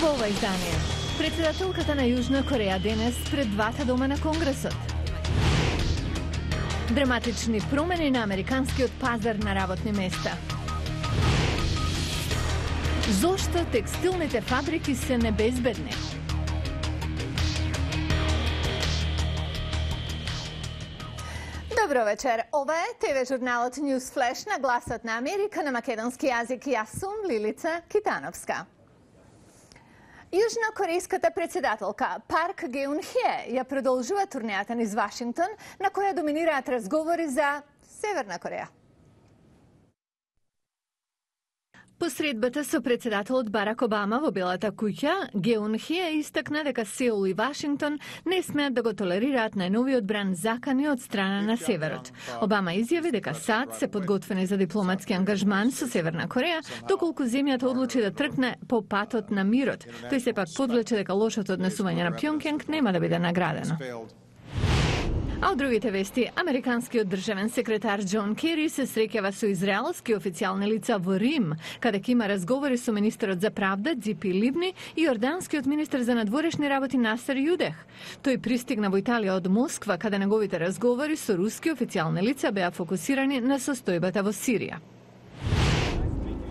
Во ова издание, председателката на Јужна Кореја денес пред двата дома на Конгресот. Драматични промени на американскиот пазар на работни места. Зошто текстилните фабрики се небезбедни? Добро вечер. Ова е ТВ журналот News Flash на гласот на Америка на македонски јазик. Јас сум Лилица Китановска. Јужнокорејската председателка Парк Геун-хје ја продолжува турнејата низ Вашингтон, на која доминираат разговори за Северна Кореја. По средбата со председателот Барак Обама во Белата куќа, Геун-хје истакна дека Сеул и Вашингтон не смеат да го толерираат најновиот бран закани од страна на Северот. Обама изјави дека САД се подготвени за дипломатски ангажман со Северна Кореја, доколку земјата одлучи да тркне по патот на мирот. Тој сепак подвлече дека лошото однесување на Пјонкјанг нема да биде наградено. А од другите вести, американскиот државен секретар Џон Кери се среќава со израелски официјални лица во Рим, каде ќе има разговори со министерот за правда Ципи Ливни и јорданскиот министер за надворешни работи Насер Јудех. Тој пристигна во Италија од Москва, каде неговите разговори со руски официјални лица беа фокусирани на состојбата во Сирија.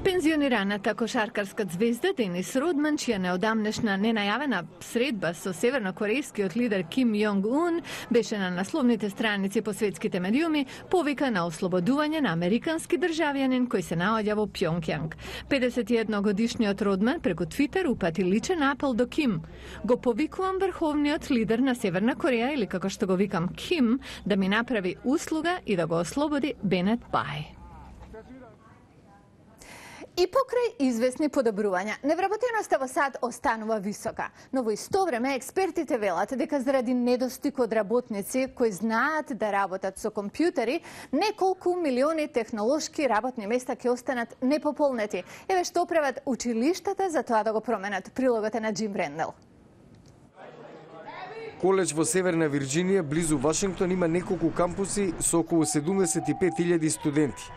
Пензионираната кошаркарска звезда Денис Родман, чија неодамнешна ненајавена средба со севернокорејскиот лидер Ким Јонг Ун беше на насловните страници по светските медиуми, повика на ослободување на американски државјанин кој се наоѓа во Пјонкјанг. 51-годишниот Родман преку Твитер упати личен апел до Ким. Го повикувам врховниот лидер на Северна Кореја, или како што го викам Ким, да ми направи услуга и да го ослободи Бенет Бај. И покрај известни подобрувања, невработеноста во САД останува висока, но во исто време експертите велат дека заради недостиг од работници кои знаат да работат со компјутери, неколку милиони технолошки работни места ќе останат непополнети. Еве што прават училиштата за тоа да го променат. Прилогот е на Джим Рендел. Коледж во Северна Вирџинија, близу Вашингтон, има неколку кампуси со околу 75.000 студенти.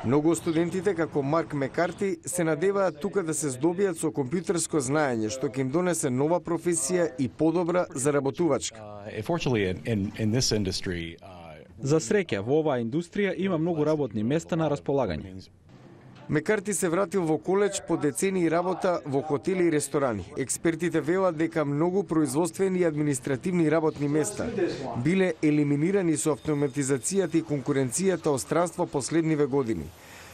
Многу од студентите, како Марк Мекарти, се надеваат тука да се здобијат со компјутерско знаење, што ќе им донесе нова професија и подобра заработувачка. За среќа, во оваа индустрија има многу работни места на располагање. Мекарти се вратил во коледж по децении работа во хотели и ресторани. Експертите велат дека многу производствени и административни работни места биле елиминирани со автоматизацијата и конкуренцијата од странство последниве години.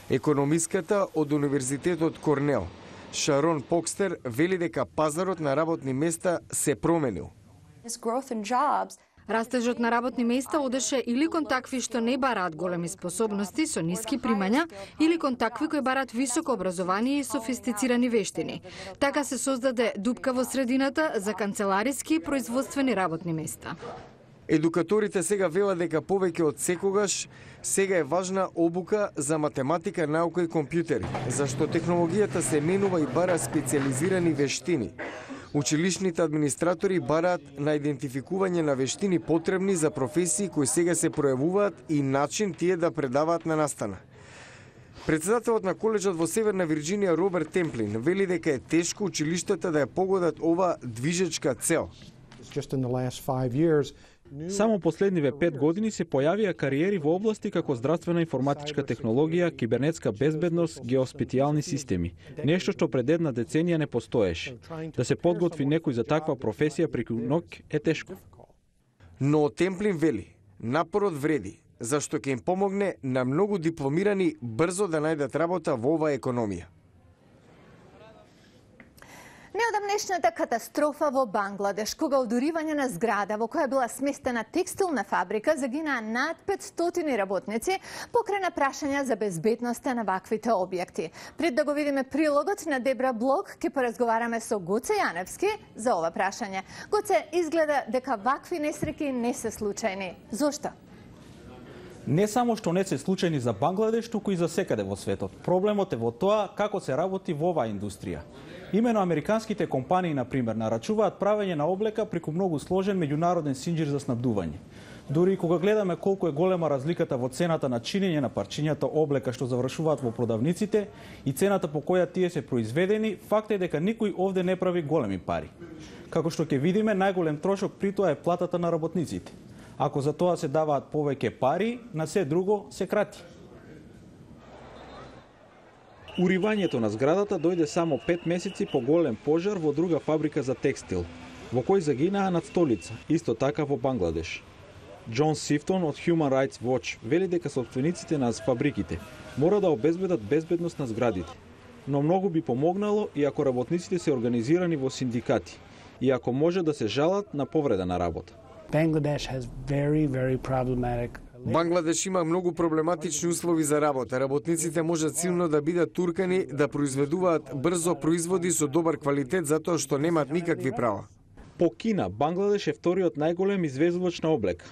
Економиската од Универзитетот Корнел, Шарон Покстер, вели дека пазарот на работни места се променил. Растежот на работни места одеше или кон такви што не бараат големи способности со ниски примања, или кон такви кои бараат високо образование и софистицирани вештини. Така се создаде дупка во средината за канцелариски и производствени работни места. Едукаторите сега велат дека повеќе од секогаш сега е важна обука за математика, наука и компјутери, зашто технологијата се менува и бара специализирани вештини. Училишните администратори бараат на идентификување на вештини потребни за професии кои сега се пројавуваат и начин тие да предаваат на настана. Председателот на коледжот во Северна Вирџинија Роберт Темплин вели дека е тешко училиштата да ја погодат ова движечка цел. Само последниве 5 години се појавија кариери во области како здравствена информатичка технологија, кибернетска безбедност, геоспатијални системи. Нешто што пред една деценија не постоеше. Да се подготви некој за таква професија преку ноќ е тешко. Но Темплин вели, напорот вреди, зашто ќе им помогне на многу дипломирани брзо да најдат работа во оваа економија. Неодамнешната катастрофа во Бангладеш, кога од уривање на зграда во која била сместена текстилна фабрика загинаа над 500 работници, покрена прашања за безбедноста на ваквите објекти. Пред да го видиме прилогот на Дебра Блок, ќе поразговараме со Гоце Јаневски за ова прашање. Гоце, изгледа дека вакви несреќи не се случајни. Зошто? Не само што не се случајни за Бангладеш, туку и за секаде во светот. Проблемот е во тоа како се работи во оваа индустрија. Имено американските компании, например, нарачуваат правење на облека преку многу сложен меѓународен синџир за снабдување. Дури и кога гледаме колку е голема разликата во цената на чинење на парчињата облека што завршуваат во продавниците и цената по која тие се произведени, факт е дека никој овде не прави големи пари. Како што ќе видиме, најголем трошок при тоа е платата на работниците. Ако за тоа се даваат повеќе пари, на се друго се крати. Уривањето на зградата дојде само 5 месеци по голем пожар во друга фабрика за текстил, во кој загинаа над столица, исто така во Бангладеш. Џон Сифтон од Human Rights Watch вели дека собствениците на фабриките мора да обезбедат безбедност на зградите, но многу би помогнало и ако работниците се организирани во синдикати и ако може да се жалат на повреда на работа. Бангладеш има многу проблематични услови за работа. Работниците можат силно да бидат туркани да произведуваат брзо производи со добар квалитет затоа што немаат никакви права. По Кина, Бангладеш е вториот најголем извезувач на облека.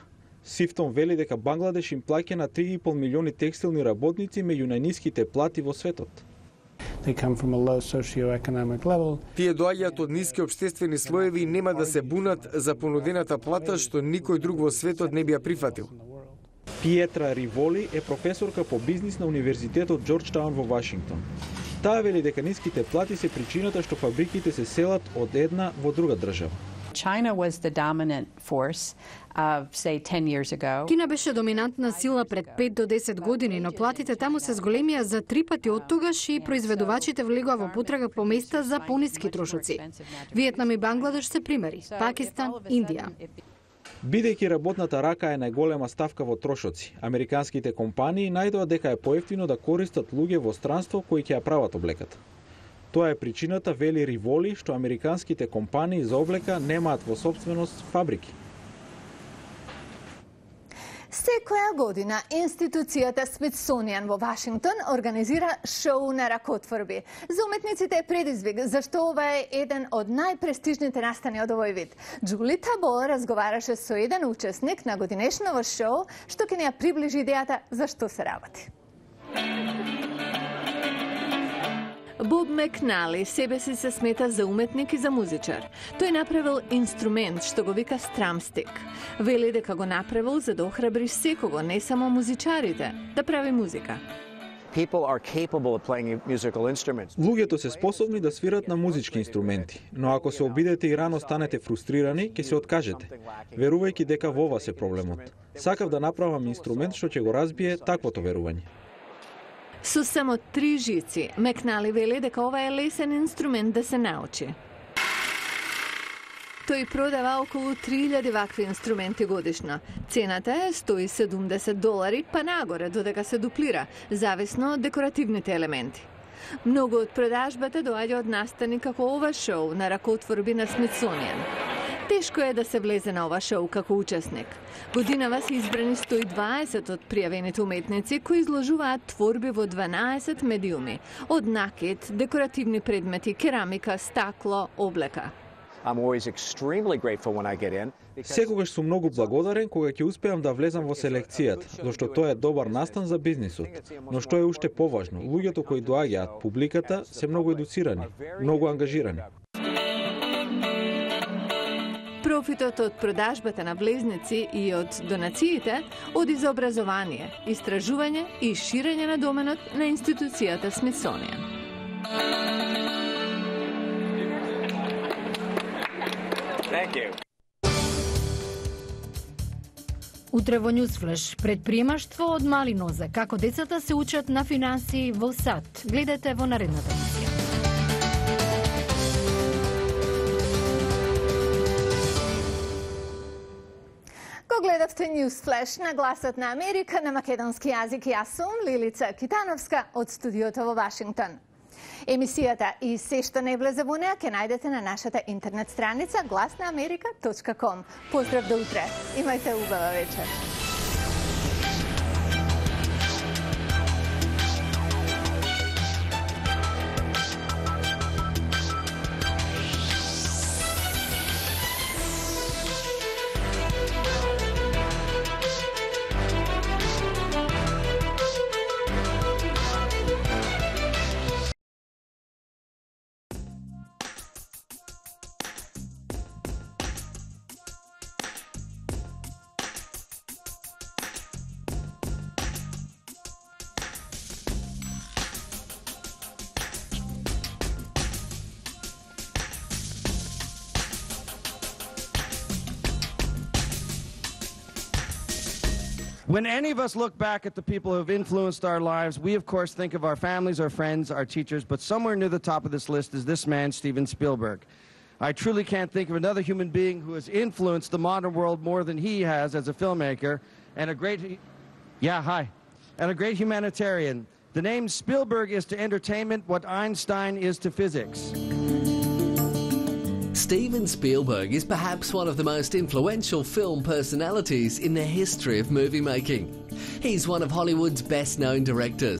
Сифтон вели дека Бангладеш им плаќа на 3,5 милиони текстилни работници меѓу најниските плати во светот. Тие доаѓаат од ниски општествени слоеви и нема да се бунат за понудената плата што никој друг во светот не би ја прифатил. Пиетра Риволи е професорка по бизнис на Универзитетот Џорџтаун во Вашингтон. Таа вели дека ниските плати се причината што фабриките се селат од една во друга држава. China was the dominant force of, say, 10 years ago. Кина беше доминантна сила пред 5 до 10 години, но платите таму се зголемија за 3 пати оттогаш и произведувачите влегоа во потрага по места за пониски трошоци. Виетнам и Бангладеш се примери, Пакистан, Индија. Бидејќи работната рака е најголема ставка во трошоци, американските компании најдоа дека е поевтино да користат луѓе во странство кои ќе ја прават облеката. Тоа е причината, вели Риволи, што американските компании за облека немаат во сопственост фабрики. Секоја година институцијата Смитсонијан во Вашингтон организира шоу на ракотворби. За уметниците е предизвик, зашто ова е еден од најпрестижните настани од овој вид. Џули Табо разговараше со еден учесник на годинешново шоу, што ќе ни ја приближи идејата за што се работи. Боб Макнали себе си се смета за уметник и за музичар. Тој направил инструмент што го вика страмстик. Вели дека го направил за да охрабри секого, не само музичарите, да прави музика. Луѓето се способни да свират на музички инструменти, но ако се обидете и рано станете фрустрирани, ќе се откажете, верувајќи дека во ова се проблемот. Сакав да направам инструмент што ќе го разбие таквото верување. Со само 3 жици, Макнали вели дека ова е лесен инструмент да се научи. Тој продава околу 3000 вакви инструменти годишно. Цената е $170, па нагоре додека се дуплира, зависно од декоративните елементи. Многу од продажбата доаѓа од настани како ова шоу на ракотворби на Смитсонијан. Тешко е да се влезе на ова шоу како учесник. Годинава се избрани 120 од пријавените уметници кои изложуваат творби во 12 медиуми, од накид, декоративни предмети, керамика, стакло, облека. Секогаш сум многу благодарен кога ќе успеам да влезам во селекцијата, зашто тоа е добар настан за бизнисот. Но што е уште поважно, луѓето кои доаѓаат, публиката, се многу едуцирани, многу ангажирани. Профитот од продажбата на влезници и од донациите оди за образование, истражување и ширење на доменот на институцијата Смитсонијан. Утре во Ньюсфлеш, предприемаштво од мали нозе, како децата се учат на финансии во САД. Гледате во наредната емисија. Го гледавте Ньюсфлеш на Гласот на Америка на македонски јазик. Јас сум Лилица Китановска од студиото во Вашингтон. Емисијата и се што не влезе во неа ќе најдете на нашата интернет страница glasnaamerika.com. Поздрав до утре. Имајте убава вечер. When any of us look back at the people who have influenced our lives, we of course think of our families, our friends, our teachers, but somewhere near the top of this list is this man, Steven Spielberg. I truly can't think of another human being who has influenced the modern world more than he has as a filmmaker and a great humanitarian. The name Spielberg is to entertainment what Einstein is to physics. Steven Spielberg is perhaps one of the most influential film personalities in the history of movie making. He's one of Hollywood's best-known directors.